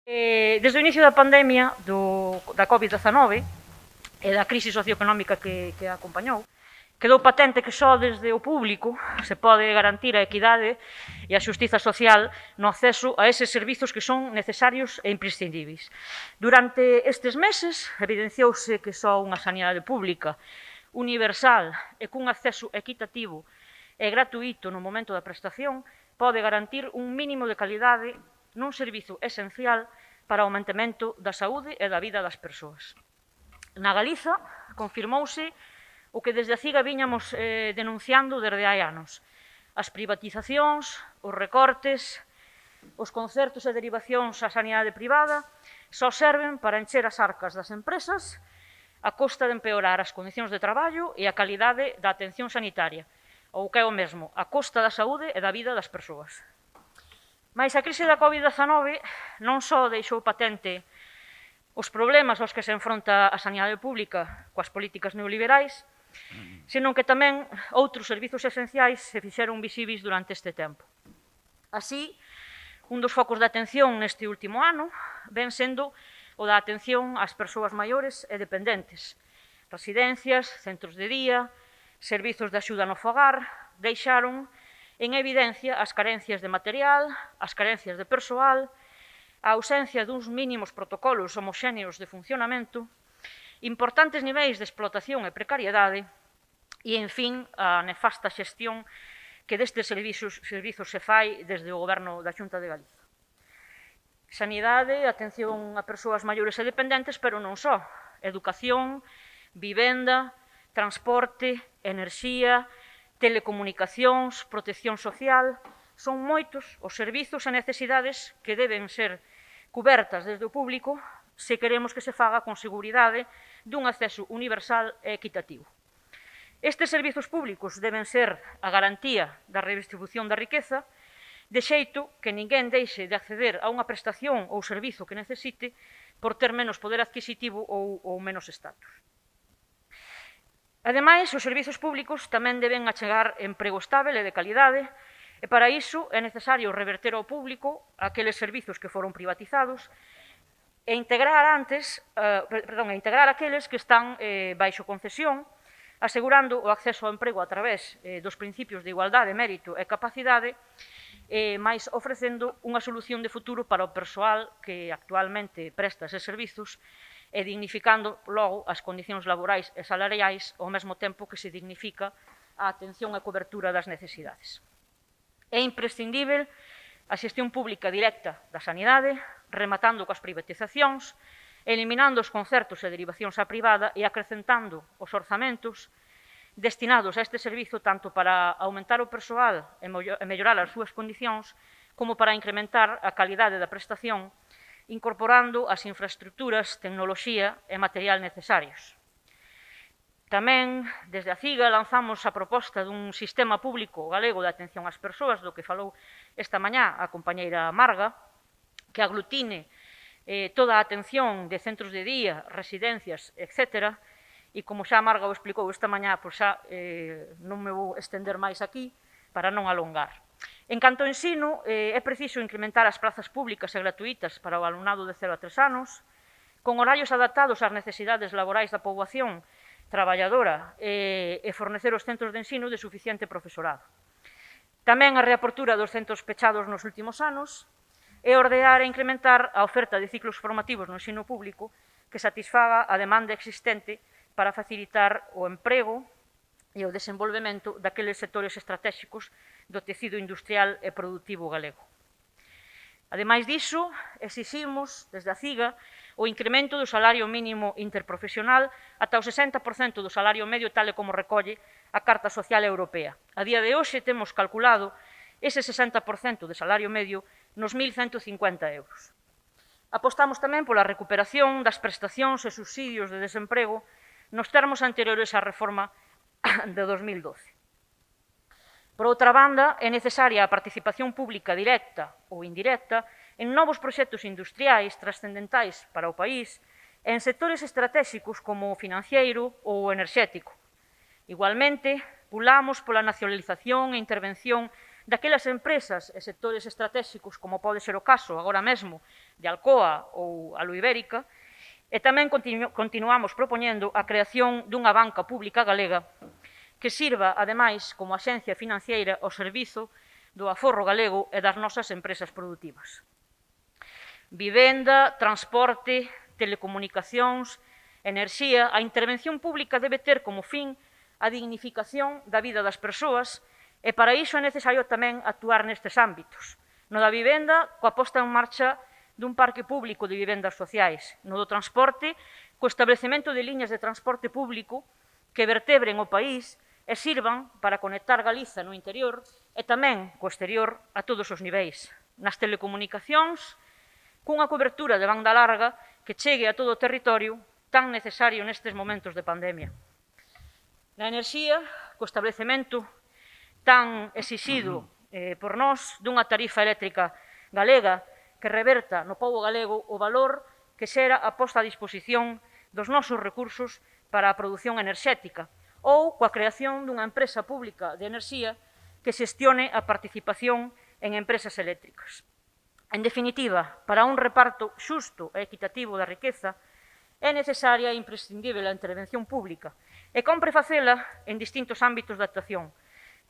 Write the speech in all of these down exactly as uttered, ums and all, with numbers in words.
Eh, desde o inicio da pandemia do, da covid dezanove e da crise socioeconómica que, que a acompañou, quedou patente que só desde o público se pode garantir a equidade e a xustiza social no acceso a eses servizos que son necesarios e imprescindíveis. Durante estes meses evidenciouse que só unha sanidade pública universal e cun acceso equitativo e gratuito no momento da prestación pode garantir un mínimo de calidade nun servizo esencial para o mantemento da saúde e da vida das persoas. Na Galiza confirmouse o que desde a CIGA viñamos eh, denunciando desde hai anos. As privatizacións, os recortes, os concertos e derivacións á sanidade privada só serven para encher as arcas das empresas a costa de empeorar as condicións de traballo e a calidade da atención sanitaria, ou que é o mesmo, a costa da saúde e da vida das persoas. Mais a crise da covid dezanove non só deixou patente os problemas aos que se enfronta a sanidade pública coas políticas neoliberais, senón que tamén outros servizos esenciais se fixeron visíveis durante este tempo. Así, un dos focos de atención neste último ano ven sendo o da atención ás persoas maiores e dependentes. Residencias, centros de día, servizos de axuda no fogar deixaron en evidencia as carencias de material, as carencias de persoal, a ausencia duns mínimos protocolos homoxéneos de funcionamento, importantes niveis de explotación e precariedade e, en fin, a nefasta xestión que destes servizos, servizos se fai desde o Goberno da Xunta de Galiza. Sanidade, atención a persoas maiores e dependentes, pero non só. Educación, vivenda, transporte, enerxía, telecomunicacións, protección social, son moitos os servizos e necesidades que deben ser cubertas desde o público se queremos que se faga con seguridade dun acceso universal e equitativo. Estes servizos públicos deben ser a garantía da redistribución da riqueza, de xeito que ninguén deixe de acceder a unha prestación ou servizo que necesite por ter menos poder adquisitivo ou, ou menos estatus. Ademais, os servizos públicos tamén deben achegar emprego estável e de calidade, e para iso é necesario reverter ao público aqueles servizos que foron privatizados e integrar antes, eh, perdón, e integrar aqueles que están eh, baixo concesión, asegurando o acceso ao emprego a través eh, dos principios de igualdade, mérito e capacidade, eh, máis ofrecendo unha solución de futuro para o persoal que actualmente presta eses servizos e dignificando logo as condicións laborais e salariais ao mesmo tempo que se dignifica a atención e cobertura das necesidades. É imprescindível a xestión pública directa da sanidade, rematando coas privatizacións, eliminando os concertos e derivacións á privada e acrecentando os orzamentos destinados a este servizo tanto para aumentar o persoal e mellorar as súas condicións como para incrementar a calidade da prestación incorporando as infraestructuras, tecnoloxía e material necesarios. Tamén, desde a CIGA, lanzamos a proposta dun sistema público galego de atención ás persoas, do que falou esta mañá a compañeira Marga, que aglutine eh, toda a atención de centros de día, residencias, etcétera, e como xa Marga o explicou esta mañá, pois xa eh, non me vou estender máis aquí para non alongar. En canto ao ensino, eh, é preciso incrementar as prazas públicas e gratuítas para o alumnado de cero a tres anos, con horarios adaptados ás necesidades laborais da poboación traballadora eh, e fornecer os centros de ensino de suficiente profesorado. Tamén a reapertura dos centros pechados nos últimos anos e ordear e incrementar a oferta de ciclos formativos no ensino público que satisfaga a demanda existente para facilitar o emprego e o desenvolvemento daqueles sectores estratégicos do tecido industrial e productivo galego. Ademais diso, exiximos, desde a CIGA, o incremento do salario mínimo interprofesional ata o sesenta por cento do salario medio tal e como recolle a Carta Social Europea. A día de hoxe temos calculado ese sesenta por cento de salario medio nos mil cento cincuenta euros. Apostamos tamén pola recuperación das prestacións e subsidios de desemprego nos termos anteriores á reforma de dos mil doce. Por outra banda, é necesaria a participación pública directa ou indirecta en novos proxectos industriais trascendentais para o país e en sectores estratégicos como o financiero ou o enerxético. Igualmente, pulamos pola nacionalización e intervención daquelas empresas e sectores estratégicos, como pode ser o caso agora mesmo de Alcoa ou Aluibérica, e tamén continu continuamos propoñendo a creación dunha banca pública galega que sirva, ademais, como axencia financiera ao servizo do aforro galego e das nosas empresas produtivas. Vivenda, transporte, telecomunicacións, enerxía, a intervención pública debe ter como fin a dignificación da vida das persoas e para iso é necesario tamén actuar nestes ámbitos. No da vivenda, coa posta en marcha dun parque público de vivendas sociais. No do transporte, co establecemento de liñas de transporte público que vertebren o país e sirvan para conectar Galiza no interior e tamén co exterior a todos os niveis. Nas telecomunicacións, cunha cobertura de banda larga que chegue a todo o territorio tan necesario nestes momentos de pandemia. Na enerxía, co establecemento tan exixido eh, por nós dunha tarifa eléctrica galega que reverta no pobo galego o valor que xera a posta a disposición dos nosos recursos para a produción enerxética ou coa creación dunha empresa pública de enerxía que xestione a participación en empresas eléctricas. En definitiva, para un reparto xusto e equitativo da riqueza, é necesaria e imprescindible a intervención pública e compre facela en distintos ámbitos de actuación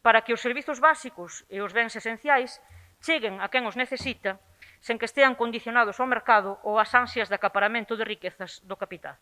para que os servizos básicos e os bens esenciais cheguen a quen os necesita sen que estean condicionados ao mercado ou ás ansias de acaparamento de riquezas do capital.